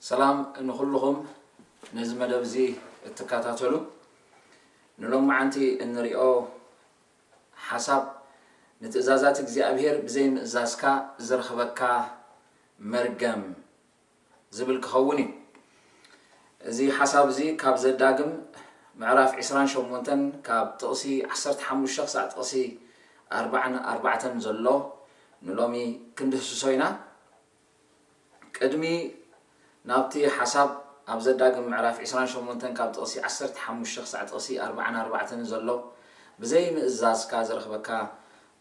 ሰላም ንኹልኹም ነዚ መደብ እዚ እትከታተሉ። ንሎማዓንቲ እንሪኦ ሓሳብ ንትእዛዛት እግዚኣብሔር ብዘይምእዛዝካ ዝረኽበካ መርገም ዝብል ክኸውን እዩ። እዚ ሓሳብ እዚ ካብ ዘዳግም ምዕራፍ ዕስራን ሸሞንተን ካብ ጥቕሲ ዓሰርተ ሓሙሽተ ክሳዕ ጥቕሲ ኣርባዓን ኣርባዕተን ዘሎ ንሎሚ ክንድህስሶ ኢና። ቅድሚ ናብቲ ሓሳብ ኣብ ዘዳግም ምዕራፍ ዕስራን ሸሞንተን ካብ ጥቕሲ ዓሰርተ ሓሙሽተ ክሳዕ ጥቕሲ ኣርባዓን ኣርባዕተን ዘሎ ብዘይ ምእዛዝካ ዝረኽበካ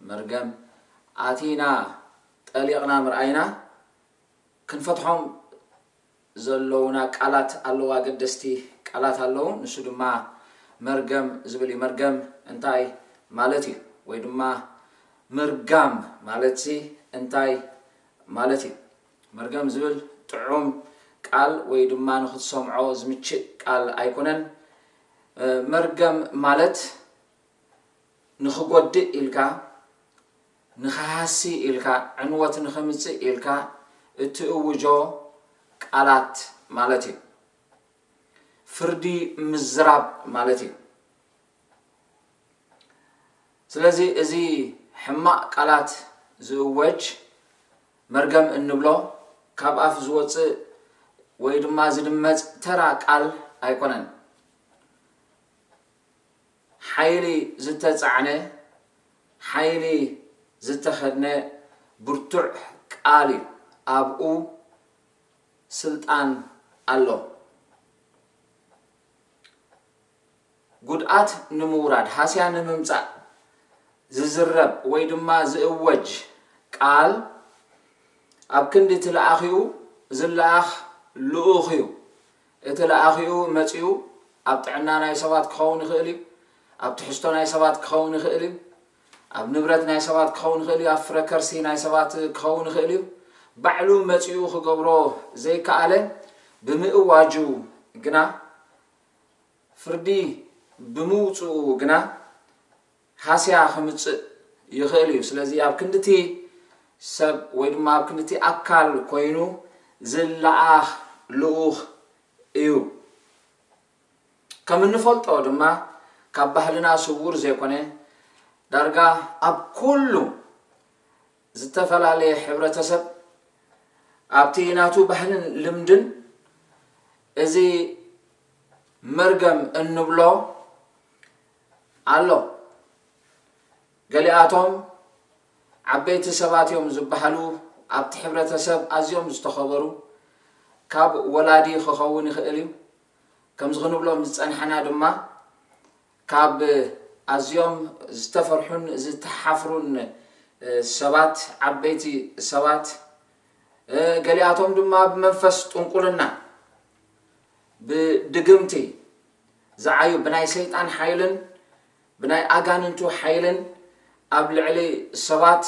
መርገም ኣቲና ጠሊቕና ምርኣይና ክንፈትሖም ዘለውና ቃላት ኣለዉ፣ ኣገደስቲ ቃላት ኣለዉ። ንሱ ድማ መርገም ዝብል እዩ። መርገም እንታይ ማለት እዩ? ወይ ድማ ምርጋም ማለትሲ እንታይ ማለት እዩ? መርገም ዝብል ጥዑም ቃል ወይ ድማ ንኽትሰምዖ ዝምችእ ቃል ኣይኮነን። እ፣ መርገም ማለት ንኽጎድእ ኢልካ፣ ንኽሃሲ ኢልካ፣ ዕንወት ንኽምጽእ ኢልካ እትእውጆ ቃላት ማለት እዩ። ፍርዲ ምዝራብ ማለት እዩ። ስለዚ እዚ ሕማቕ ቃላት ዝእወጅ መርገም እንብሎ ካብ ኣፍ ዝወጽእ ወይ ድማ ዝድመጽ ተራ ቃል ኣይኮነን። ሓይሊ ዝተጻዕነ፣ ሓይሊ ዝተኸድነ ብርቱዕ ቃል እዩ። ኣብኡ ስልጣን ኣሎ። ጉድኣት ንምውራድ፣ ሃስያ ንምምጻእ ዝዝረብ ወይ ድማ ዝእወጅ ቃል ኣብ ክንዲ እቲ ለኣኺኡ ዝለኣኽ ልኡኽ እዩ። እቲ ለኣኺኡ መጺኡ ኣብ ጥዕና ናይ ሰባት ክኸውን ይኽእል እዩ። ኣብ ትሕዝቶ ናይ ሰባት ክኸውን ይኽእል እዩ። ኣብ ንብረት ናይ ሰባት ክኸውን ይኽእል እዩ። ኣብ ፍረ ከርሲ ናይ ሰባት ክኸውን ይኽእል እዩ። ባዕሉ መጺኡ ክገብሮ ዘይከኣለ ብምእዋጁ ግና፣ ፍርዲ ብምውጽኡ ግና ሃስያ ክምጽእ ይኽእል እዩ። ስለዚ ኣብ ክንድቲ ሰብ ወይ ድማ ኣብ ክንድቲ ኣካል ኮይኑ ዝለኣኽ ልኡኽ እዩ። ከም እንፈልጦ ድማ ካብ ባህልና ስዉር ዘይኮነ ዳርጋ ኣብ ኩሉ ዝተፈላለየ ሕብረተሰብ ኣብቲ ናቱ ባህልን ልምድን እዚ መርገም እንብሎ ኣሎ። ገሊኣቶም ዓበይቲ ሰባት እዮም ዝበሃሉ ኣብቲ ሕብረተሰብ ኣዝዮም ዝተኸበሩ ካብ ወላዲ ክኸውን ይኽእል እዩ። ከምዚ ክንብሎም ዝጸንሐና ድማ ካብ ኣዝዮም ዝተፈርሑን ዝተሓፍሩን ሰባት፣ ዓበይቲ ሰባት፣ ገሊኣቶም ድማ ብመንፈስ ጥንቁልና፣ ብድግምቲ ዝዓዩ፣ ብናይ ሰይጣን ሓይልን ብናይ ኣጋንንቱ ሓይልን ኣብ ልዕሊ ሰባት፣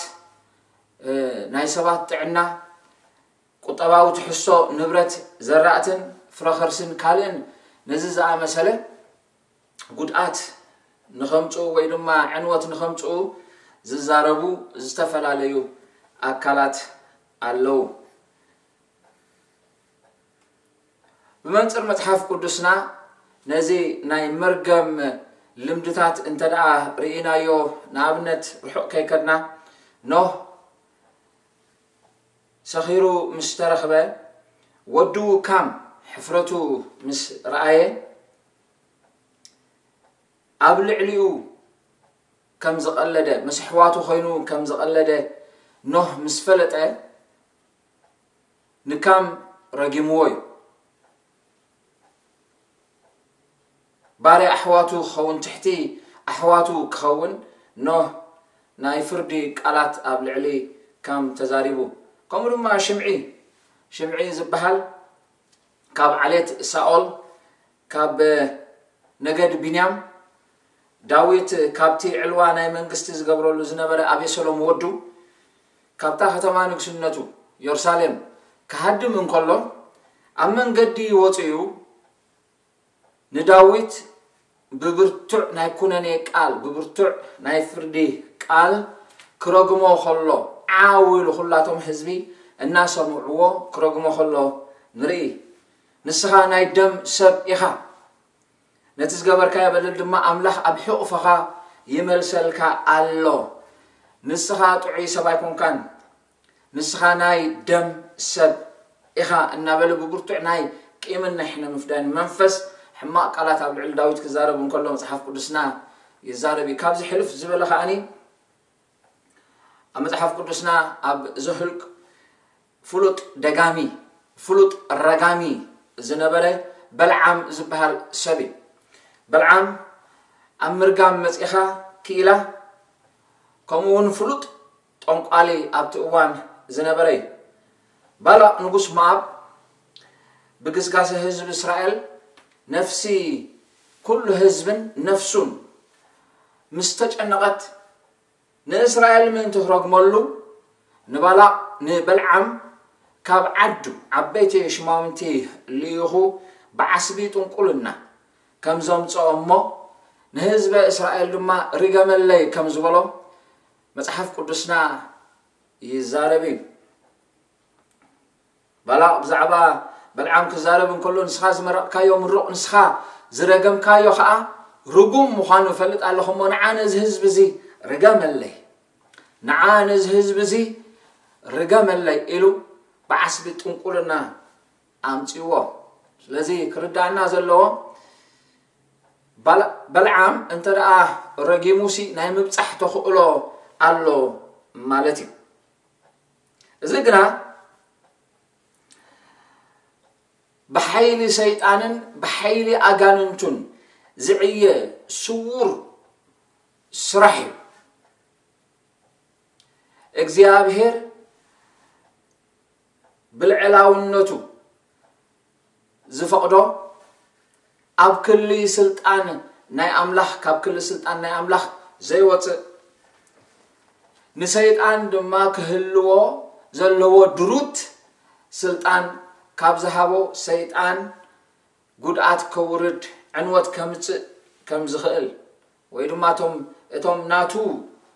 ናይ ሰባት ጥዕና፣ ቁጠባዊ ትሕዝቶ ንብረት ዘራእትን ፍረኸርስን ካልእን ነዚ ዝኣመሰለ ጉድኣት ንኸምጽኡ ወይ ድማ ዕንወት ንኸምጽኡ ዝዛረቡ ዝተፈላለዩ ኣካላት ኣለዉ። ብመንጽር መጽሓፍ ቅዱስና ነዚ ናይ መርገም ልምድታት እንተ ደኣ ርኢናዮ፣ ንኣብነት ርሑቕ ከይከድና ኖህ ሰኺሩ ምስ ተረኽበ፣ ወዱ ካም ሕፍረቱ ምስ ረኣየ፣ ኣብ ልዕሊኡ ከም ዝቐለደ፣ ምስ ኣሕዋቱ ኮይኑ ከም ዝቐለደ ኖህ ምስ ፈለጠ፣ ንካም ረጊምዎ እዩ። ባርያ ኣሕዋቱ ክኸውን፣ ትሕቲ ኣሕዋቱ ክኸውን፣ ኖህ ናይ ፍርዲ ቃላት ኣብ ልዕሊ ከም ተዛሪቡ። ከምኡ ድማ ሽምዒ፣ ሽምዒ ዝበሃል ካብ ዓሌት ሳኦል፣ ካብ ነገድ ቢንያም፣ ዳዊት ካብቲ ዕልዋ ናይ መንግስቲ ዝገብረሉ ዝነበረ ኣቤሰሎም ወዱ፣ ካብታ ከተማ ንግስነቱ የሩሳሌም ክሃድም እንከሎ፣ ኣብ መንገዲ ወፂኡ ንዳዊት ብብርቱዕ ናይ ኩነኔ ቃል፣ ብብርቱዕ ናይ ፍርዲ ቃል ክረግሞ ከሎ፣ ዓው ኢሉ ኩላቶም ህዝቢ እናሰምዕዎ ክረግሞ ከሎ ንርኢ። ንስኻ ናይ ደም ሰብ ኢኻ፣ ነቲ ዝገበርካዮ በደል ድማ ኣምላኽ ኣብ ሕቑፍኻ ይመልሰልካ ኣሎ። ንስኻ ጥዑይ ሰብ ኣይኮንካን፣ ንስኻ ናይ ደም ሰብ ኢኻ እናበለ ብብርቱዕ ናይ ቂምን ናይ ሕነ ምፍዳይን መንፈስ ሕማቕ ቃላት ኣብ ልዕሊ ዳዊት ክዛረብ እንከሎ መጽሓፍ ቅዱስና ይዛረብ እዩ። ካብዚ ሕልፍ ዝበለ ከኣኒ ኣብ መጽሓፍ ቅዱስና ኣብ ዘሁልቅ ፍሉጥ ደጋሚ፣ ፍሉጥ ረጋሚ ዝነበረ በልዓም ዝበሃል ሰብ እዩ። በልዓም ኣብ ምርጋም መጺኻ ክኢላ፣ ከምኡ እውን ፍሉጥ ጠንቋሊ ኣብቲ እዋን ዝነበረ እዩ። ባላቕ ንጉስ ሞኣብ ብግስጋሰ ህዝቢ እስራኤል ነፍሲ ኩሉ ህዝብን ነፍሱን ምስ ተጨነቐት፣ ንእስራኤል ምእንቲ ክረግመሉ ንባላቕ ንበልዓም ካብ ዓዱ ዓበይቲ ሽማውንቲ ልኢኹ ብዓስቢ ጥንቁልና ከም ዘምጽኦ እሞ ንህዝበ እስራኤል ድማ ርገመለይ ከም ዝበሎ መጽሓፍ ቅዱስና ይዛረብ እዩ። ባላቕ ብዛዕባ በልዓም ክዛረብ እንከሎ፣ ንስኻ ዝመረቕካዮ ምሩቕ፣ ንስኻ ዝረገምካዮ ኸኣ ርጉም ምዃኑ እፈልጥ ኣለኹ እሞ፣ ንዓ ነዚ ህዝቢ እዚ ርገመለይ፣ ንዓ ነዚ ህዝቢ እዚ ርገመለይ ኢሉ ብዓስቢ ጥንቁልና ኣምጺዎ። ስለዚ ክርዳእና ዘለዎ፣ ባል-፣ በልዓም እንተ ደኣ ረጊሙሲ ናይ ምብጻሕ ተኽእሎ ኣሎ ማለት እዩ። እዚ ግና ብሓይሊ ሰይጣንን ብሓይሊ ኣጋንንቱን ዝዕየ ስዉር ስራሕ እዩ። እግዚኣብሔር ብልዕላውነቱ ዝፈቕዶ ኣብ ክሊ ስልጣን ናይ ኣምላኽ፣ ካብ ክሊ ስልጣን ናይ ኣምላኽ ዘይወጽእ፣ ንሰይጣን ድማ ክህልዎ ዘለዎ ድሩት ስልጣን ካብ ዝሃቦ፣ ሰይጣን ጉድኣት ከውርድ፣ ዕንወት ከምጽእ ከም ዝኽእል፣ ወይ ድማ እቶም፣ እቶም ናቱ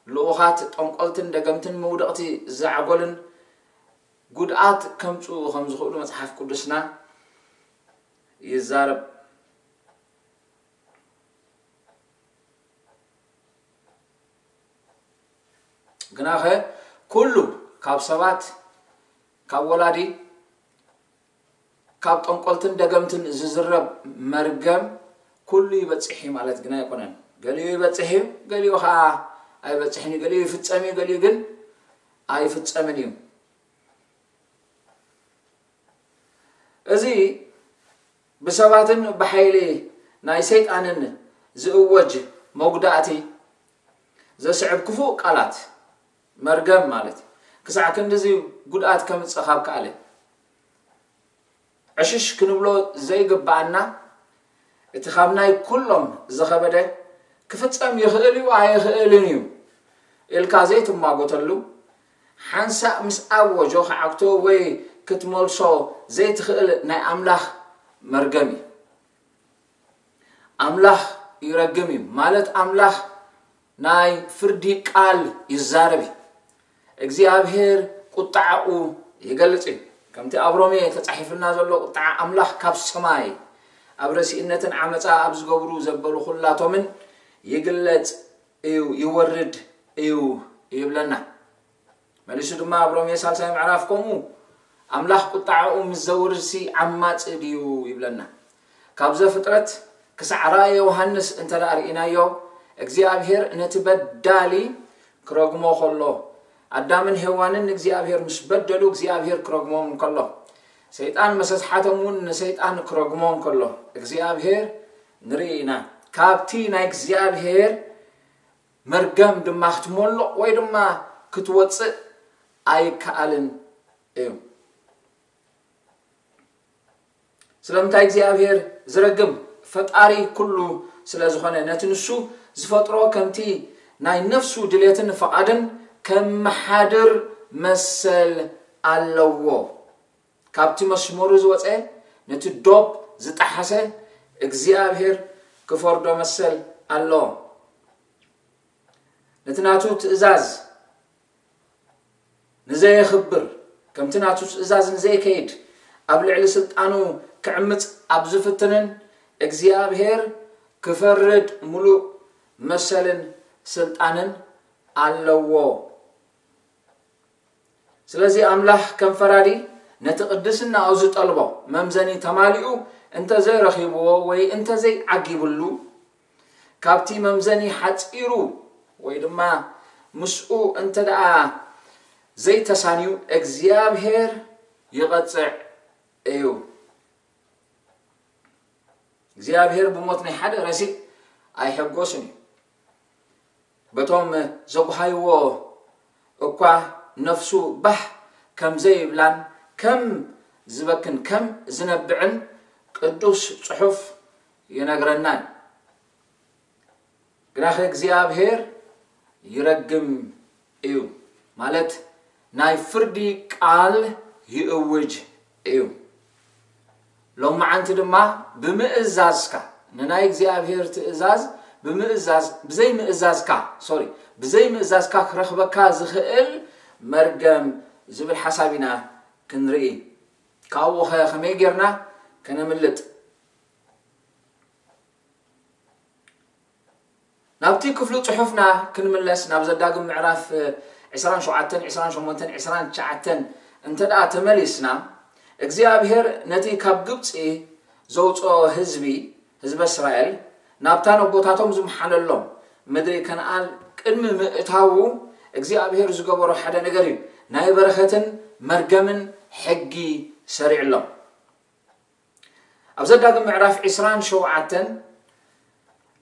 ልኡኻት ጠንቆልትን ደገምትን መውደቕቲ ዛዕጎልን ጉድኣት ከምጽኡ ከም ዝኽእሉ መጽሓፍ ቅዱስና ይዛረብ። ግናኸ ኩሉ ካብ ሰባት፣ ካብ ወላዲ፣ ካብ ጠንቆልትን ደገምትን ዝዝረብ መርገም ኩሉ ይበጽሕ እዩ ማለት ግና ኣይኮነን። ገሊኡ ይበጽሕ እዩ፣ ገሊኡ ኸዓ ኣይበጽሕን እዩ። ገሊኡ ይፍጸም እዩ፣ ገሊኡ ግን ኣይፍጸምን እዩ። እዚ ብሰባትን ብሓይሊ ናይ ሰይጣንን ዝእወጅ መጉዳእቲ ዘስዕብ ክፉእ ቃላት፣ መርገም ማለት እዩ። ክሳዕ ክንድዚ ጉድኣት ከምጽእ ካብ ከኣለ፣ ዕሽሽ ክንብሎ ዘይግብኣና፣ እቲ ካብ ናይ ኩሎም ዝኸበደ፣ ክፍጸም ይኽእል እዩ ኣይኽእልን እዩ ኢልካ ዘይትማጎተሉ፣ ሓንሳእ ምስ ኣወጆ ክዓግቶ ወይ ክትመልሶ ዘይትኽእል ናይ ኣምላኽ መርገም እዩ። ኣምላኽ ይረግም እዩ ማለት፣ ኣምላኽ ናይ ፍርዲ ቃል ይዛረብ እዩ። እግዚኣብሔር ቁጣዓኡ ይገልጽ እዩ። ከምቲ ኣብ ሮሜ ተጻሒፍልና ዘሎ፣ ቁጣዓ ኣምላኽ ካብ ሰማይ ኣብ ረሲእነትን ዓመጻ ኣብ ዝገብሩ ዘበሉ ኩላቶምን ይግለጽ እዩ፣ ይወርድ እዩ ይብለና። መሊሱ ድማ ኣብ ሮሜ ሳልሳይ ምዕራፍ ከምኡ፣ ኣምላኽ ቁጣዓኡ ምስ ዘውርድሲ ዓማጺ ድዩ ይብለና። ካብ ዘፍጥረት ክሳዕ ራእየ ዮሃንስ እንተ ደኣ ርኢናዮ፣ እግዚኣብሔር ነቲ በዳሊ ክረግሞ ከሎ፣ ኣዳምን ሄዋንን ንእግዚኣብሔር ምስ በደሉ እግዚኣብሔር ክረግሞም እንከሎ፣ ሰይጣን መሰስሓቶም እውን ንሰይጣን ክረግሞ እንከሎ እግዚኣብሔር ንርኢ ኢና። ካብቲ ናይ እግዚኣብሔር መርገም ድማ ክትመልቕ ወይ ድማ ክትወጽእ ኣይከኣልን እዩ። ስለምንታይ እግዚኣብሔር ዝረግም? ፈጣሪ ኩሉ ስለ ዝኾነ፣ ነቲ ንሱ ዝፈጥሮ ከምቲ ናይ ነፍሱ ድሌትን ፍቓድን ከመሓድር መሰል ኣለዎ። ካብቲ መስመሩ ዝወፀ፣ ነቲ ዶብ ዝጠሓሰ እግዚኣብሔር ክፈርዶ መሰል ኣለዎ። ነቲ ናቱ ትእዛዝ ንዘየኽብር፣ ከምቲ ናቱ ትእዛዝ ንዘይከይድ፣ ኣብ ልዕሊ ስልጣኑ ክዕምፅ ኣብ ዝፍትንን እግዚኣብሔር ክፈርድ ሙሉእ መሰልን ስልጣንን ኣለዎ። ስለዚ ኣምላኽ ከም ፈራዲ ነቲ ቅድስናኡ ዝጠልቦ መምዘኒ ተማሊኡ እንተዘይረኺብዎ ወይ እንተዘይዓጊብሉ፣ ካብቲ መምዘኒ ሓፂሩ ወይ ድማ ምስኡ እንተ ደኣ ዘይተሳንዩ እግዚኣብሔር ይቐፅዕ እዩ። እግዚኣብሔር ብሞት ናይ ሓደ ረሲእ ኣይሕጎስን እዩ። በቶም ዘጉሃይዎ እኳ ነፍሱ ባህ ከም ዘይብላን ከም ዝበክን ከም ዝነብዕን ቅዱስ ጽሑፍ ይነግረና እዩ። ግናኸ እግዚኣብሔር ይረግም እዩ፣ ማለት ናይ ፍርዲ ቃል ይእውጅ እዩ። ሎማዓንቲ ድማ ብምእዛዝካ፣ ንናይ እግዚኣብሔር ትእዛዝ ብምእዛዝ፣ ብዘይ ምእዛዝካ፣ ሶሪ፣ ብዘይ ምእዛዝካ ክረኽበካ ዝኽእል መርገም ዝብል ሓሳብ ኢና ክንርኢ። ካብኡ ኸ ከመይ ጌርና ከነምልጥ? ናብቲ ክፍሉ ጽሑፍና ክንምለስ፣ ናብ ዘዳግም ምዕራፍ ዕስራን ሸውዓተን፣ ዕስራን ሸሞንተን፣ ዕስራን ትሽዓተን እንተ ደኣ ተመሊስና፣ እግዚኣብሔር ነቲ ካብ ግብጺ ዘውጽኦ ህዝቢ፣ ህዝበ እስራኤል፣ ናብታ ነቦታቶም ዝመሓለሎም ምድሪ ከነኣን ቅድሚ ምእታዉ እግዚኣብሔር ዝገበሮ ሓደ ነገር እዩ። ናይ በረኸትን መርገምን ሕጊ ሰሪዕሎም። ኣብ ዘዳግም ምዕራፍ ዕስራን ሸውዓተን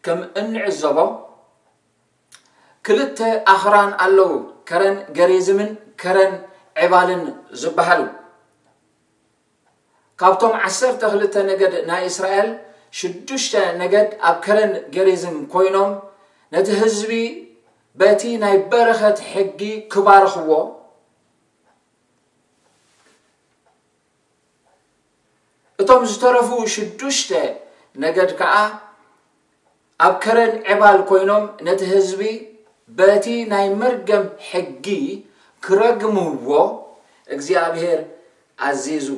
ከም እንዕዘቦ፣ ክልተ ኣኽራን ኣለዉ፣ ከረን ገሪዝምን ከረን ዔባልን ዝበሃሉ። ካብቶም ዓሰርተ ክልተ ነገድ ናይ እስራኤል፣ ሽዱሽተ ነገድ ኣብ ከረን ገሪዝም ኮይኖም፣ ነቲ ህዝቢ በቲ ናይ በረኸት ሕጊ ክባርኽዎ፣ እቶም ዝተረፉ ሽዱሽተ ነገድ ከኣ ኣብ ከረን ዔባል ኮይኖም ነቲ ህዝቢ በቲ ናይ መርገም ሕጊ ክረግምዎ እግዚኣብሔር ኣዚዙ።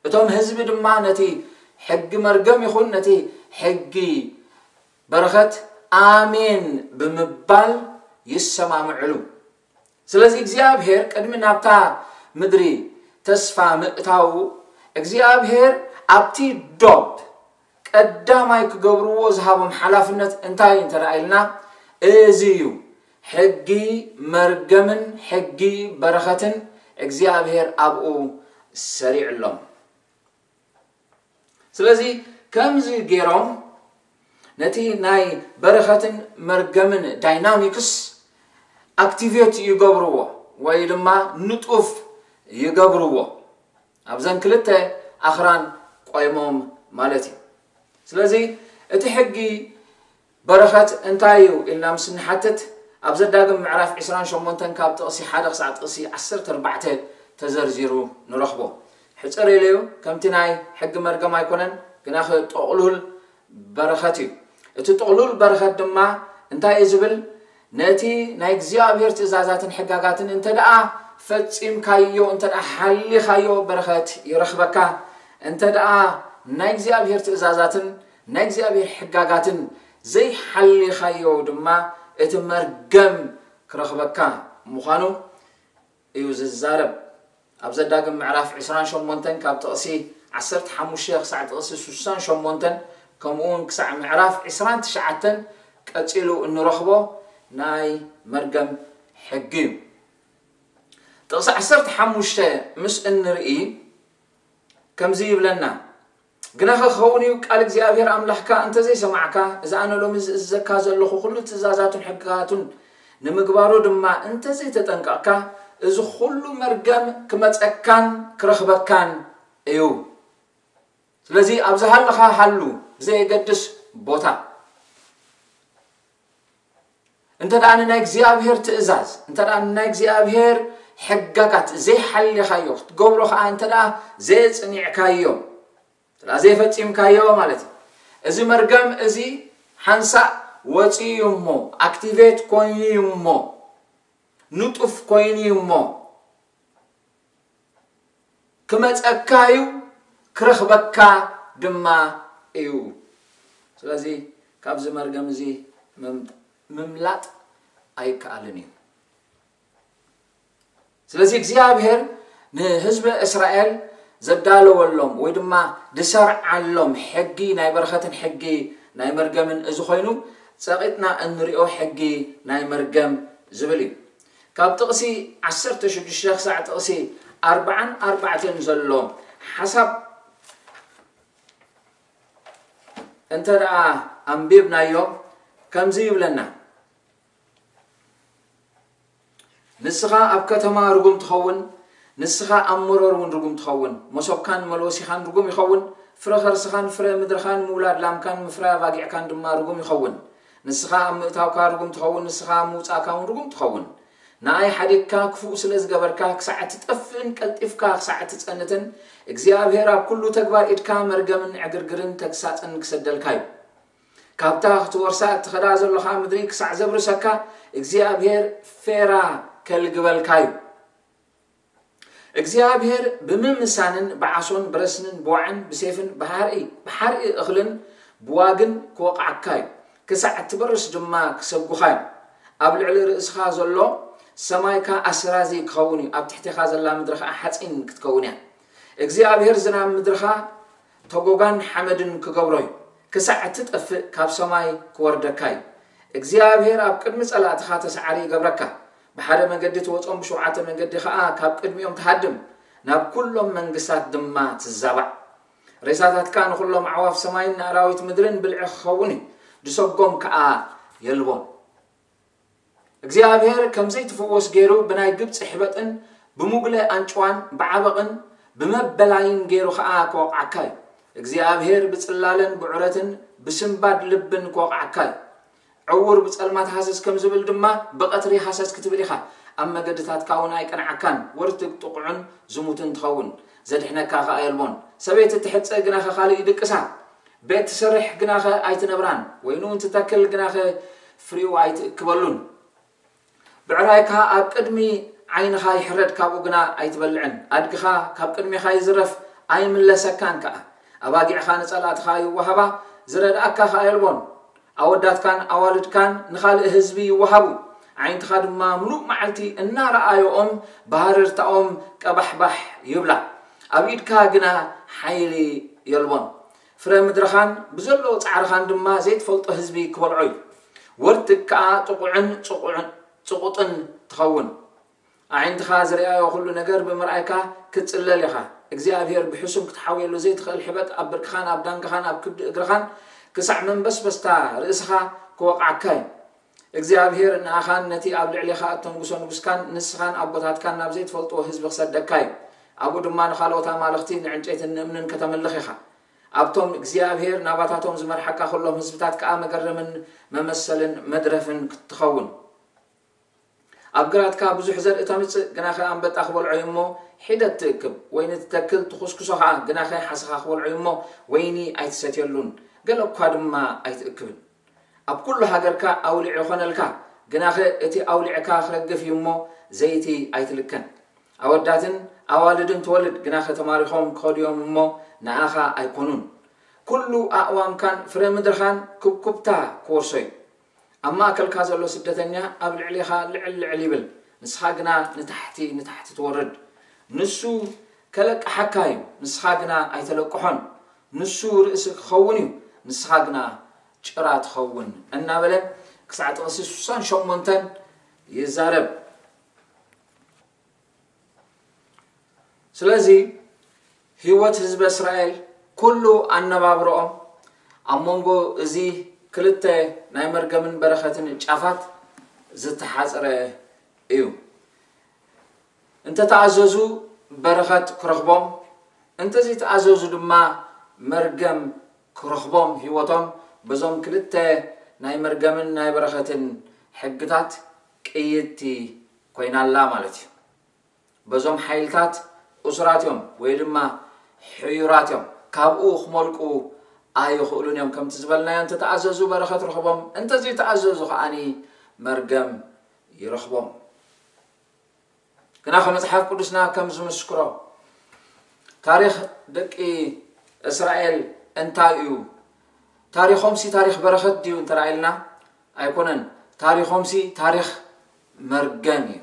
እቶም ህዝቢ ድማ ነቲ ሕጊ መርገም ይኹን ነቲ ሕጊ በረኸት ኣሜን ብምባል ይሰማምዕሉ። ስለዚ እግዚኣብሔር ቅድሚ ናብታ ምድሪ ተስፋ ምእታዉ፣ እግዚኣብሔር ኣብቲ ዶብ ቀዳማይ ክገብርዎ ዝሃቦም ሓላፍነት እንታይ እንተ ደኣ ኢልና፣ እዚ እዩ። ሕጊ መርገምን ሕጊ በረኸትን እግዚኣብሔር ኣብኡ ሰሪዕሎም። ስለዚ ከምዚ ገይሮም ነቲ ናይ በረኸትን መርገምን ዳይናሚክስ ኣክቲቬት ይገብርዎ ወይ ድማ ንጡፍ ይገብርዎ። ኣብዘን ክልተ ኣኽራን ቆይሞም ማለት እዩ። ስለዚ እቲ ሕጊ በረኸት እንታይ እዩ ኢልና ምስ ንሓትት፣ ኣብ ዘዳግም ምዕራፍ ዕስራን ሸሞንተን ካብ ጥቕሲ ሓደ ክሳዕ ጥቕሲ ዓሰርተ ኣርባዕተ ተዘርዚሩ ንረኽቦ። ሕጽር ኢሉ እዩ፣ ከምቲ ናይ ሕጊ መርገም ኣይኮነን፣ ግናኸ ጥቕሉል በረኸት እዩ። እቲ ጥቕሉል በረኸት ድማ እንታይ እዩ ዝብል? ነቲ ናይ እግዚኣብሔር ትእዛዛትን ሕጋጋትን እንተ ደኣ ፈጺምካዮ፣ እንተ ደኣ ሓሊኻዮ በረኸት ይረኽበካ። እንተ ደኣ ናይ እግዚኣብሔር ትእዛዛትን ናይ እግዚኣብሔር ሕጋጋትን ዘይሓሊኻዮ ድማ እቲ መርገም ክረኽበካ ምዃኑ እዩ ዝዛረብ። ኣብ ዘዳግም ምዕራፍ ዕስራን ሸሞንተን ካብ ጥቕሲ ዓሰርተ ሓሙሽተ ክሳዕ ጥቕሲ ስሳን ሸሞንተን፣ ከምኡ እውን ክሳዕ ምዕራፍ ዕስራን ትሽዓተን ቀጺሉ እንረኽቦ ናይ መርገም ሕጊ እዩ። ጥቕሲ ዓሰርተ ሓሙሽተ ምስ እንርኢ ከምዚ ይብለና፣ ግናኸ ክኸውን እዩ፣ ቃል እግዚኣብሔር ኣምላኽካ እንተ ዘይሰማዕካ፣ እዚ ኣነ ሎሚ ዝእዝዘካ ዘለኹ ኩሉ ትእዛዛቱን ሕግጋቱን ንምግባሩ ድማ እንተዘይተጠንቀቕካ፣ እዚ ኩሉ መርገም ክመጸካን ክረኽበካን እዩ። ስለዚ ኣብ ዝሃለኻ ሃሉ፣ ብዘየገድስ ቦታ። እንተ ደኣ ንናይ እግዚኣብሔር ትእዛዝ፣ እንተ ደኣ ንናይ እግዚኣብሔር ሕጋጋት ዘይሓሊኻዮ፣ ክትገብሮ ኸኣ እንተ ደኣ ዘየጽኒዕካዮ፣ እንተ ደኣ ዘይፈጺምካዮ ማለት እዩ። እዚ መርገም እዚ ሓንሳእ ወጺኡ እዩ እሞ፣ ኣክቲቬት ኮይኑ እዩ እሞ፣ ንጡፍ ኮይኑ እዩ እሞ፣ ክመጸካ እዩ፣ ክረኽበካ ድማ እዩ። ስለዚ ካብዚ መርገም እዚ ምም-፣ ምምላጥ ኣይከኣልን እዩ። ስለዚ እግዚኣብሔር ንህዝቢ እስራኤል ዘዳለወሎም ወይ ድማ ዝሰርዓሎም ሕጊ ናይ በረኸትን ሕጊ ናይ መርገምን እዚ ኮይኑ፣ ጸቒጥና እንሪኦ ሕጊ ናይ መርገም ዝብል እዩ። ካብ ጥቕሲ ዓሰርተ ሽዱሽተ ክሳዕ ጥቕሲ ኣርባዓን ኣርባዕተን ዘሎ ሓሳብ እንተ ደኣ ኣንቢብናዮ ከምዚ ይብለና። ንስኻ ኣብ ከተማ ርጉም ትኸውን፣ ንስኻ ኣብ መሮር እውን ርጉም ትኸውን። መሶብካን መለወሲኻን ርጉም ይኸውን፣ ፍረ ኸርስኻን ፍረ ምድርኻን ምውላድ ላምካን ምፍራይ ኣባጊዕካን ድማ ርጉም ይኸውን። ንስኻ ኣብ ምእታውካ ርጉም ትኸውን፣ ንስኻ ኣብ ምውጻእካ እውን ርጉም ትኸውን። ንኣይ ሓዲግካ ክፉእ ስለ ዝገበርካ፣ ክሳዕ እትጠፍእን ቀልጢፍካ ክሳዕ እትጸንትን፣ እግዚኣብሔር ኣብ ኩሉ ተግባር ኢድካ መርገምን ዕግርግርን ተግሳጽን ክሰደልካ እዩ። ካብታ ክትወርሳ እትኸዳ ዘለኻ ምድሪ ክሳዕ ዘብርሰካ እግዚኣብሔር ፌራ ከልግበልካ እዩ። እግዚኣብሔር ብምምሳንን ብዓሶን ብረስንን ብዋዕን ብሴፍን ብሓርኢ ብሓርኢ እኽልን ብዋግን ክወቕዓካ እዩ። ክሳዕ እትበርስ ድማ ክሰጉኻ እዩ። ኣብ ልዕሊ ርእስኻ ዘሎ ሰማይካ ኣስራዚ ክኸውን እዩ፣ ኣብ ትሕቴኻ ዘላ ምድሪ ኸዓ ሓፂን ክትከውን እያ። እግዚኣብሔር ዝናብ ምድርኻ ተጎጋን ሓመድን ክገብሮ እዩ። ክሳዕ እትጠፍእ ካብ ሰማይ ክወርደካ እዩ። እግዚኣብሔር ኣብ ቅድሚ ጸላእትኻ ተሰዓሪ ይገብረካ። ብሓደ መገዲ ትወጾም፣ ብሸውዓተ መገዲ ኸኣ ካብ ቅድሚኦም ትሃድም። ናብ ኩሎም መንግስታት ድማ ትዛባዕ። ሬሳታትካ ንኹሎም ኣዕዋፍ ሰማይን ንኣራዊት ምድርን ብልዒ ክኸውን እዩ። ድሰጎም ከኣ የልቦን። እግዚኣብሔር ከም ዘይትፍወስ ገይሩ ብናይ ግብጺ ሕበጥን ብሙግለ ኣንጭዋን ብዓበቕን ብመበላይን ገይሩ ኸኣ ክወቕዓካ እዩ። እግዚኣብሔር ብጽላለን ብዑረትን ብስንባድ ልብን ክወቕዓካ እዩ። ዕዉር ብጸልማት ሃሰስ ከም ዝብል ድማ ብቐትሪ ሃሰስ ክትብል ኢኻ። ኣብ መገድታትካ እውን ኣይቀንዓካን። ወርትግ ጥቑዕን ዝሙትን ትኸውን። ዘድሕነካ ኸኣ የልቦን። ሰበይቲ ትሕጸ ግናኸ ካልእ ይድቅሳ። ቤት ትሰርሕ ግናኸ ኣይትነብራን። ወይኑ እውን ትተክል ግናኸ ፍሪኡ ኣይትእክበሉን። ብዕራይካ ኣብ ቅድሚ ዓይንኻ ይሕረድ፣ ካብኡ ግና ኣይትበልዕን። ኣድግኻ ካብ ቅድሜኻ ይዝረፍ፣ ኣይምለሰካን ከኣ። ኣባጊዕኻ ንጸላእትኻ ይወሃባ፣ ዝረድኣካ ከኣ የልቦን። ኣወዳትካን ኣዋልድካን ንኻልእ ህዝቢ ይወሃቡ፣ ኣዒንትኻ ድማ ምሉእ መዓልቲ እናረኣዮኦም ብሃረርታኦም ቀባሕባሕ ይብላ። ኣብ ኢድካ ግና ሓይሊ የልቦን። ፍረ ምድርኻን ብዘለዎ ጻዕርኻን ድማ ዘይትፈልጦ ህዝቢ ክበልዖ እዩ። ወርትግ ከኣ ጥቑዕን ጽቑዕን ጽቑጥን ትኸውን። ኣዒንትኻ ዝረኣዮ ኩሉ ነገር ብምርኣይካ ክትጽለል ኢኻ። እግዚኣብሔር ብሕሱም ክትሓውየሉ ዘይትኽእል ሕበጥ ኣብ ብርክኻን ኣብ ዳንግኻን ኣብ ክብዲ እግርኻን ክሳዕ መንበስበስታ ርእስኻ ክወቕዓካ እዩ። እግዚኣብሔር ንኣኻን ነቲ ኣብ ልዕሌኻ እተንጉሶ ንጉስካን ንስኻን ኣቦታትካን ናብ ዘይትፈልጥዎ ህዝቢ ክሰደካ እዩ። ኣብኡ ድማ ንኻልኦት ኣማልኽቲ ንዕንጨይትን ንእምንን ከተምልኽ ኢኻ። ኣብቶም እግዚኣብሔር ናባታቶም ዝመርሓካ ኩሎም ህዝብታት ከኣ መገረምን መመሰልን መድረፍን ክትኸውን። ኣብ ግራትካ ብዙሕ ዘርኢ ተምጽእ፣ ግናኸ ኣንበጣ ክበልዖ እዩ እሞ ሒደት ትእክብ። ወይኒ ትተክል፣ ትኹስኩሶ ኸኣ፣ ግናኸ ሓሰኻ ክበልዖ እዩ እሞ ወይኒ ኣይትሰትየሉን። ገለ እኳ ድማ ኣይትእክብን። ኣብ ኩሉ ሃገርካ ኣውሊዕ ይኾነልካ፣ ግናኸ እቲ ኣውሊዕካ ክረግፍ እዩ እሞ ዘይቲ ኣይትልከን። ኣወዳትን ኣዋልድን ትወልድ፣ ግናኸ ተማሪኾም ክኸዱ እዮም እሞ ንኣኻ ኣይኮኑን። ኩሉ ኣእዋምካን ፍረ ምድርኻን ኩብኩብታ ክወርሶ እዩ። ኣብ ማእከልካ ዘሎ ስደተኛ ኣብ ልዕሌኻ ልዕል ልዕል ይብል፣ ንስኻ ግና ንታሕቲ ንታሕቲ ትወርድ። ንሱ ከለቅሓካ እዩ፣ ንስኻ ግና ኣይተለቅሖን። ንሱ ርእሲ ክኸውን እዩ፣ ንስኻ ግና ጭራ ትኸውን እናበለ ክሳዕ ጥቕሲ ስሳን ሸሞንተን ይዛረብ። ስለዚ ህይወት ህዝበ እስራኤል ኩሉ ኣነባብረኦም ኣብ መንጎ እዚ ክልተ ናይ መርገምን በረኸትን ጫፋት ዝተሓጽረ እዩ። እንተተኣዘዙ በረኸት ክረኽቦም፣ እንተዘይተኣዘዙ ድማ መርገም ክረኽቦም፣ ህይወቶም በዞም ክልተ ናይ መርገምን ናይ በረኸትን ሕግታት ቅይድቲ ኮይና ኣላ ማለት እዩ። በዞም ሓይልታት እሱራት እዮም ወይ ድማ ሕዩራት እዮም። ካብኡ ክመልቁ ኣይኽእሉን እዮም። ከምቲ ዝበልናዮ፣ እንተተኣዘዙ በረኸት ረኽቦም፣ እንተዘይተኣዘዙ ከዓኒ መርገም ይረኽቦም። ግና ከመጽሓፍ ቅዱስና ከም ዝምስክሮ፣ ታሪኽ ደቂ እስራኤል እንታይ እዩ? ታሪኾምሲ ታሪኽ በረኸት ድዩ እንተ ኢልና? ኣይኮነን። ታሪኾምሲ ታሪኽ መርገም እዩ።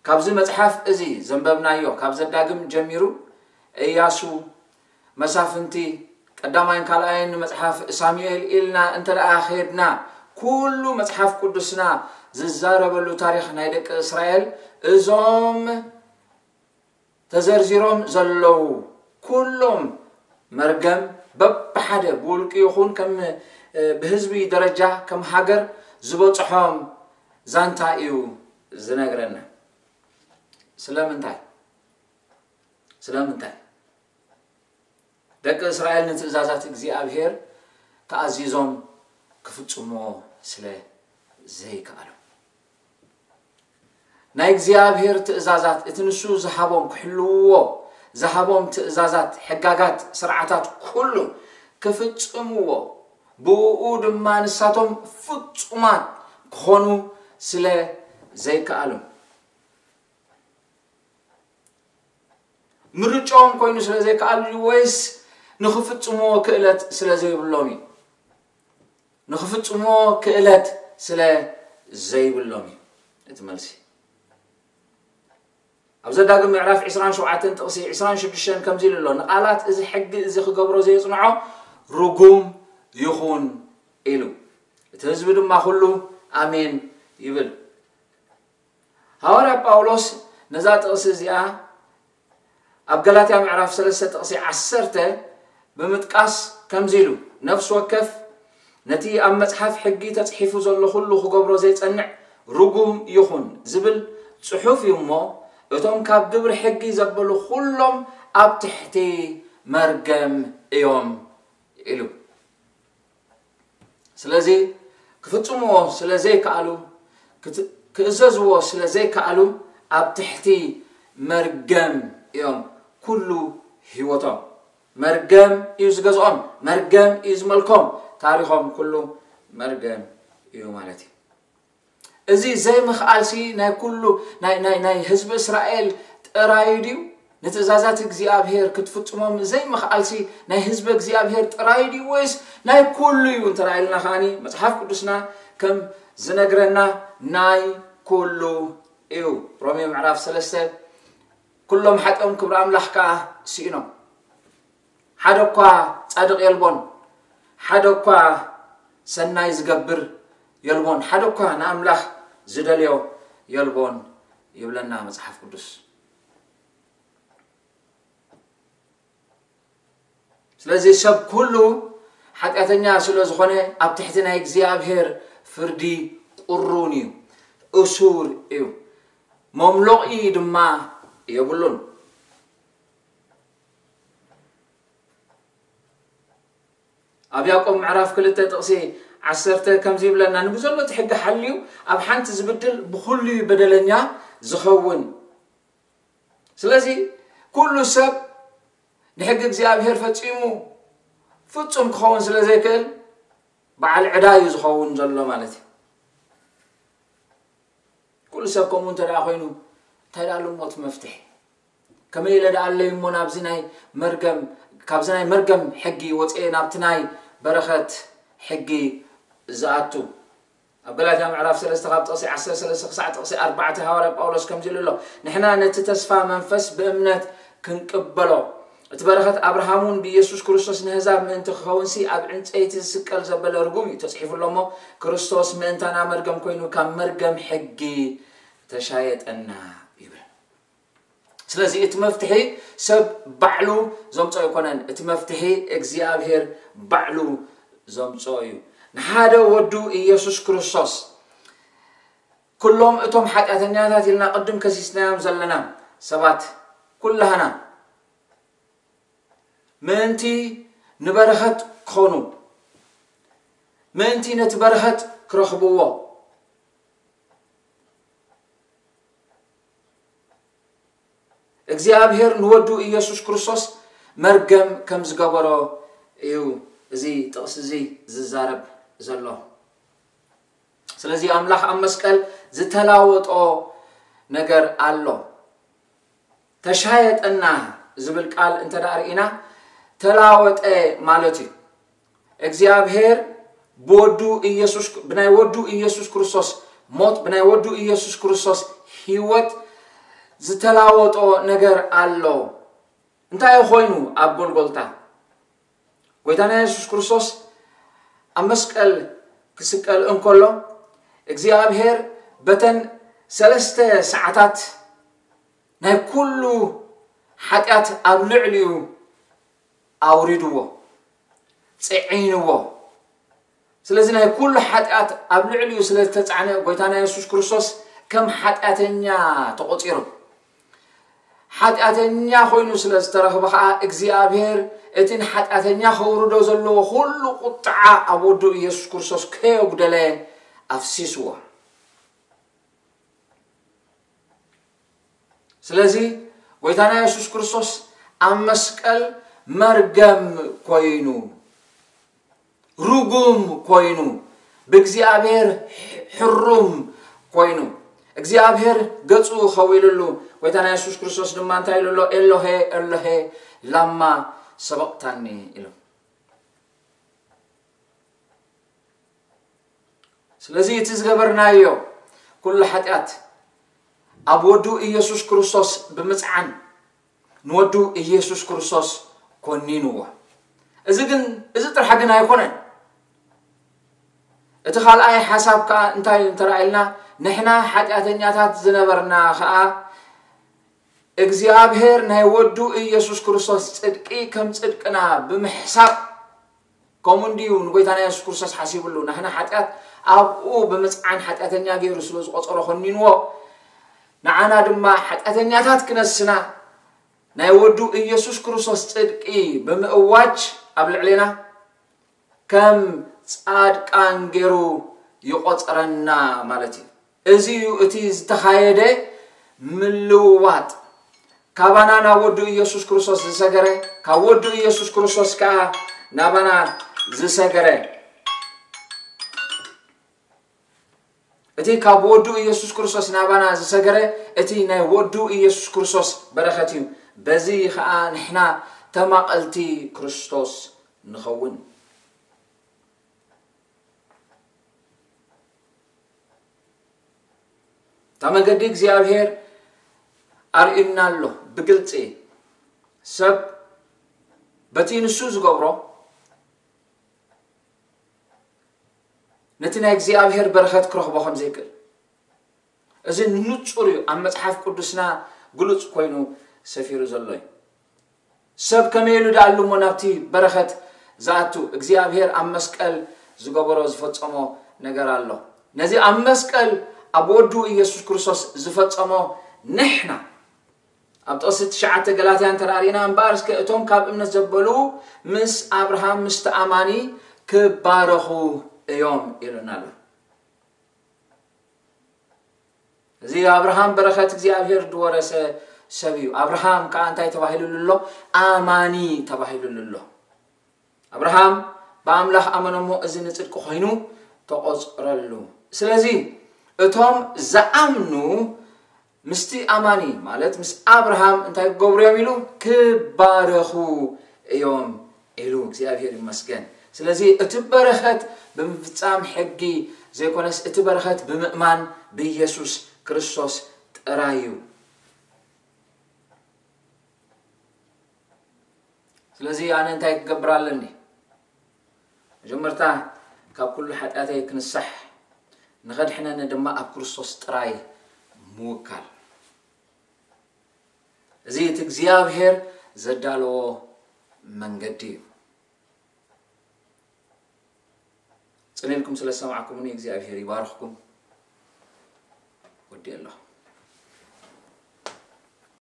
ካብዚ መጽሓፍ እዚ ዘንበብናዮ፣ ካብ ዘዳግም ጀሚሩ፣ እያሱ፣ መሳፍንቲ፣ ቀዳማይን ካልኣይን መጽሓፍ ሳሙኤል ኢልና እንተ ደኣ ኸድና፣ ኩሉ መጽሓፍ ቅዱስና ዝዛረበሉ ታሪኽ ናይ ደቂ እስራኤል፣ እዞም ተዘርዚሮም ዘለዉ ኩሎም መርገም በብሓደ ብውልቂ ይኹን ከም፣ እ፣ ብህዝቢ ደረጃ ከም ሃገር ዝበጽሖም ዛንታ እዩ ዝነግረና። ስለምንታይ? ስለምንታይ? ደቂ እስራኤል ንትእዛዛት እግዚኣብሔር ተኣዚዞም ክፍጽምዎ ስለ ዘይከኣሉ። ናይ እግዚኣብሔር ትእዛዛት፣ እቲ ንሱ ዝሃቦም ክሕልውዎ ዝሃቦም ትእዛዛት፣ ሕጋጋት፣ ስርዓታት ኩሉ ክፍጽምዎ፣ ብእኡ ድማ ንሳቶም ፍጹማት ክኾኑ ስለ ዘይከኣሉ። ምርጫኦም ኮይኑ ስለ ዘይከኣሉ እዩ ወይስ ንኽፍጽምዎ ክእለት ስለ ዘይብሎም እዩ? ንኽፍጽምዎ ክእለት ስለ ዘይብሎም እዩ እቲ መልሲ። ኣብ ዘዳግም ምዕራፍ ዕስራን ሸውዓተን ጥቕሲ ዕስራን ሽዱሽተን ከምዚ ኢሉ ኣሎ፣ "ንቓላት እዚ ሕጊ እዚ ክገብሮ ዘየጽንዖ ርጉም ይኹን" ኢሉ። እቲ ህዝቢ ድማ ኩሉ ኣሜን ይብል። ሃዋርያ ጳውሎስ ነዛ ጥቕሲ እዚኣ ኣብ ገላትያ ምዕራፍ ሰለስተ ጥቕሲ ዓሰርተ ብምጥቃስ ከምዚ ኢሉ፣ "ነፍሲ ወከፍ ነቲ ኣብ መጽሓፍ ሕጊ ተጽሒፉ ዘሎ ኩሉ ክገብሮ ዘይጸንዕ ርጉም ይኹን" ዝብል ጽሑፍ እዩ እሞ፣ እቶም ካብ ግብሪ ሕጊ ዘበሉ ኩሎም ኣብ ትሕቲ መርገም እዮም ኢሉ። ስለዚ ክፍጽምዎ ስለ ዘይከኣሉ፣ ክት-፣ ክእዘዝዎ ስለ ዘይከኣሉ፣ ኣብ ትሕቲ መርገም እዮም ኩሉ ህይወቶም። መርገም እዩ ዝገዝኦም፣ መርገም እዩ ዝመልኮም፣ ታሪኾም ኩሉ መርገም እዩ ማለት እዩ። እዚ ዘይምኽኣልሲ ናይ ኩሉ፣ ናይ፣ ናይ፣ ናይ ህዝቢ እስራኤል ጥራይ ድዩ? ንትእዛዛት እግዚኣብሔር ክትፍጽሞም ዘይምኽኣልሲ ናይ ህዝቢ እግዚኣብሔር ጥራይ ድዩ ወይስ ናይ ኩሉ እዩ? እንተ ኢልና ከኣኒ መጽሓፍ ቅዱስና ከም ዝነግረና ናይ ኩሉ እዩ። ሮሜ ምዕራፍ ሰለስተ፣ "ኩሎም ሓጢኦም ክብሪ ኣምላኽ ከኣ ስኢኖም። ሓደ እኳ ጻድቕ የልቦን፣ ሓደ እኳ ሰናይ ዝገብር የልቦን፣ ሓደ እኳ ንኣምላኽ ዝደልዮ የልቦን" ይብለና መጽሓፍ ቅዱስ። ስለዚ ሰብ ኩሉ ሓጢኣተኛ ስለ ዝኾነ ኣብ ትሕቲ ናይ እግዚኣብሔር ፍርዲ ቁሩን እዩ፣ እሱር እዩ፣ መምሎቒ ድማ የብሉን። ኣብ ያዕቆብ ምዕራፍ ክልተ ጥቕሲ ዓሰርተ ከምዚ ይብለና፣ "ንብዘሎ እቲ ሕጊ ሓልዩ ኣብ ሓንቲ ዝብድል ብኹሉ እዩ በደለኛ ዝኸውን።" ስለዚ ኩሉ ሰብ ንሕጊ እግዚኣብሔር ፈጺሙ ፍጹም ክኸውን ስለ ዘይክእል በዓል ዕዳ እዩ ዝኸውን ዘሎ ማለት እዩ። ኩሉ ሰብ ከምኡ እንተ ደኣ ኮይኑ እንታይ ደኣ ኣሎ እሞ እቲ መፍትሒ? ከመይ ኢለ ደኣ ኣለይ እሞ ናብዚ ናይ መርገም፣ ካብዚ ናይ መርገም ሕጊ ወፅኤ ናብቲ ናይ በረኸት ሕጊ ዝኣቱ? ኣብ ገላትያ ምዕራፍ ሰለስተ ካብ ጥቕሲ ዓሰርተ ሰለስተ ክሳዕ ጥቕሲ ኣርባዕተ ሃዋርያ ጳውሎስ ከምዚ ኢሉ ኣሎ፣ "ንሕና ነቲ ተስፋ መንፈስ ብእምነት ክንቅበሎ፣ እቲ በረኸት ኣብርሃም እውን ብኢየሱስ ክርስቶስ ንህዛብ ምእንቲ ክኸውንሲ ኣብ ዕንጸይቲ ዝስቀል ዘበለ ርጉም እዩ፣ ተጽሒፉ ኣሎ እሞ፣ ክርስቶስ ምእንታና መርገም ኮይኑ ካብ መርገም ሕጊ ተሻየጠና" ይብል። ስለዚ እቲ መፍትሒ ሰብ ባዕሉ ዘምጾ ኣይኮነን፣ እቲ መፍትሒ እግዚኣብሔር ባዕሉ ዘምጾ እዩ። ንሓደ ወዱ ኢየሱስ ክርስቶስ ኩሎም እቶም ሓጢኣተኛታት ኢልና ቅድም ከሲስናዮም ዘለና ሰባት ኩላህና ምእንቲ ንበረኸት ክኾኑ፣ ምእንቲ ነቲ በረኸት ክረኽብዎ፣ እግዚኣብሔር ንወዱ ኢየሱስ ክርስቶስ መርገም ከም ዝገበሮ እዩ እዚ ጥቕሲ እዚ ዝዛረብ ዘሎ። ስለዚ ኣምላኽ ኣብ መስቀል ዝተላወጦ ነገር ኣሎ። ተሻየጠና ዝብል ቃል እንተ ደኣ ርኢና፣ ተላወጠ ማለት እዩ። እግዚኣብሔር ብወዱ ኢየሱስ፣ ብናይ ወዱ ኢየሱስ ክርስቶስ ሞት፣ ብናይ ወዱ ኢየሱስ ክርስቶስ ህይወት ዝተላወጦ ነገር ኣሎ። እንታይ ኮይኑ ኣብ ጎልጎልታ? ጎይታና የሱስ ክርስቶስ ኣብ መስቀል ክስቀል እንከሎ፣ እግዚኣብሔር በተን ሰለስተ ሰዓታት ናይ ኩሉ ሓጢኣት ኣብ ልዕሊኡ ኣውሪድዎ፣ ጽዒንዎ። ስለዚ ናይ ኩሉ ሓጢኣት ኣብ ልዕሊኡ ስለ ዝተጻዕነ፣ ጎይታና የሱስ ክርስቶስ ከም ሓጢኣተኛ ተቖጺሩ። ሓጢኣተኛ ኮይኑ ስለ ዝተረኽበ ኸኣ፣ እግዚኣብሔር እቲ ንሓጢኣተኛ ከውርዶ ዘለዎ ኩሉ ቁጥዓ ኣብ ወዱ ኢየሱስ ክርስቶስ ከየጉደለ ኣፍሲስዎ። ስለዚ ጎይታና የሱስ ክርስቶስ ኣብ መስቀል መርገም ኮይኑ፣ ርጉም ኮይኑ፣ ብእግዚኣብሔር ሕሩም ኮይኑ፣ እግዚኣብሔር ገጹ ኸዊሉሉ፣ ጎይታና የሱስ ክርስቶስ ድማ እንታይ ኢሉ ኣሎ? "ኤሎሄ፣ ኤሎሄ፣ ላማ ሰበቕታኒ?" ኢሉ። ስለዚ እቲ ዝገበርናዮ ኩሉ ሓጢኣት ኣብ ወዱ ኢየሱስ ክርስቶስ ብምጽዓን፣ ንወዱ ኢየሱስ ክርስቶስ ኮኒንዎ። እዚ ግን፣ እዚ ጥራሕ ግን ኣይኮነን። እቲ ካልኣይ ሓሳብ ከኣ እንታይ እንተረኣይልና፣ ንሕና ሓጢኣተኛታት ዝነበርና ከኣ እግዚኣብሔር ናይ ወዱ ኢየሱስ ክርስቶስ ጽድቂ ከም ጽድቅና ብምሕሳብ፣ ከምኡ እንድዩ ንጎይታና የሱስ ክርስቶስ ሓሲብሉ። ናህና ሓጢኣት ኣብኡ ብምጽዓን ሓጢኣተኛ ገይሩ ስለ ዝቖጸሮ ኮኒንዎ፣ ንዓና ድማ ሓጢኣተኛታት ክነስና ናይ ወዱ ኢየሱስ ክርስቶስ ጽድቂ ብምእዋጅ ኣብ ልዕሌና ከም ጻድቃን ገይሩ ይቖጽረና ማለት እዩ። እዚ እዩ እቲ ዝተኻየደ ምልውዋጥ። ካባና ናብ ወዱ ኢየሱስ ክርስቶስ ዝሰገረ፣ ካብ ወዱ ኢየሱስ ክርስቶስ ከኣ ናባና ዝሰገረ። እቲ ካብ ወዱ ኢየሱስ ክርስቶስ ናባና ዝሰገረ፣ እቲ ናይ ወዱ ኢየሱስ ክርስቶስ በረኸት እዩ። በዚ ኸኣ ንሕና ተማቐልቲ ክርስቶስ ንኸውን። እታ መገዲ እግዚኣብሔር ኣርእዩና ኣሎ ብግልጺ። ሰብ በቲ ንሱ ዝገብሮ ነቲ ናይ እግዚኣብሔር በረኸት ክረኽቦ ከም ዘይክእል። እዚ ንጹር እዩ፣ ኣብ መጽሓፍ ቅዱስና ግሉጽ ኮይኑ ሰፊሩ ዘሎ እዩ። ሰብ ከመይ ኢሉ ደኣ ኣሎ እሞ ናብቲ በረኸት ዝኣቱ? እግዚኣብሔር ኣብ መስቀል ዝገበሮ ዝፈጸሞ ነገር ኣሎ። ነዚ ኣብ መስቀል ኣብ ወዱ ኢየሱስ ክርስቶስ ዝፈጸሞ ንሕና ኣብ ጥቕሲ ትሽዓተ ገላትያ እንተ ደኣ ርኢና፣ "እምበኣር እስከ እቶም ካብ እምነት ዘበሉ ምስ ኣብርሃም ምስቲ ኣማኒ ክባረኹ እዮም" ኢሉና ኣሎ። እዚ ኣብርሃም በረኸት እግዚኣብሔር ዝወረሰ ሰብ እዩ። ኣብርሃም ከኣ እንታይ ተባሂሉሉ ኣሎ? ኣማኒ ተባሂሉሉ ኣሎ። ኣብርሃም ብኣምላኽ ኣመነ እሞ እዚ ንጽድቂ ኮይኑ ተቖጽረሉ። ስለዚ እቶም ዝኣምኑ ምስቲ ኣማኒ፣ ማለት ምስ ኣብርሃም እንታይ ክገብሩ እዮም ኢሉ? ክባረኹ እዮም ኢሉ። እግዚኣብሔር ይመስገን። ስለዚ እቲ በረኸት ብምፍጻም ሕጊ ዘይኮነስ፣ እቲ በረኸት ብምእማን ብኢየሱስ ክርስቶስ ጥራይ እዩ። ስለዚ ኣነ እንታይ ክገብር ኣለኒ? መጀመርታ ካብ ኩሉ ሓጢኣተይ ክንሳሕ፣ ንኸድሕነኒ ድማ ኣብ ክርስቶስ ጥራይ ምውካል። እዚ እቲ እግዚኣብሔር ዘዳለዎ መንገዲ እዩ። ጽን ኢልኩም ስለ ዝሰማዕኩምኒ እግዚኣብሔር ይባርኽኩም። ይደሊ ኣለኹ።